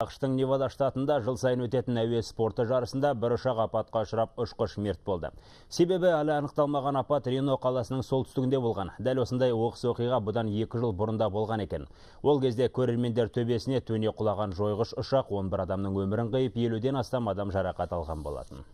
ақштың Невада штатында жыл сайын өтетін әуе спорты жарысында бір ұшақ апатқа ұшырап ұшқыш мерт болды. Себебі әлі анықталмаған апат Рено қаласының солтүстігінде болған. Дәл осындай оқыс оқиға бұдан 2 жыл бұрында болған екен. Ол кезде көрермендер төбесіне төне құлаған жойғыш ұшақ 11 адамның өмірін қиып, 50-ден астам адам жарақат алған болатын.